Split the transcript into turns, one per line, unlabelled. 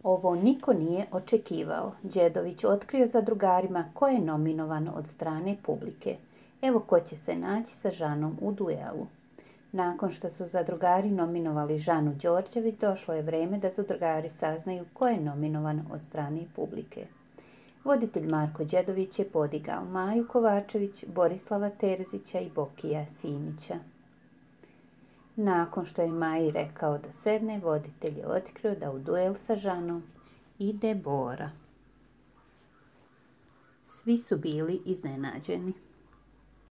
Ovo niko nije očekivao. Đedović otkrio zadrugarima ko je nominovan od strane publike. Evo ko će se naći sa Žanom u duelu. Nakon što su zadrugari nominovali Žanu Đorđević, došlo je vreme da zadrugari saznaju ko je nominovan od strane publike. Voditelj Marko Đedović je podigao Maju Kovačević, Borislava Terzića i Bokija Simića. Nakon što je Maji rekao da sedne, voditelj je otkrio da u duel sa Žanom ide Bora. Svi su bili iznenađeni.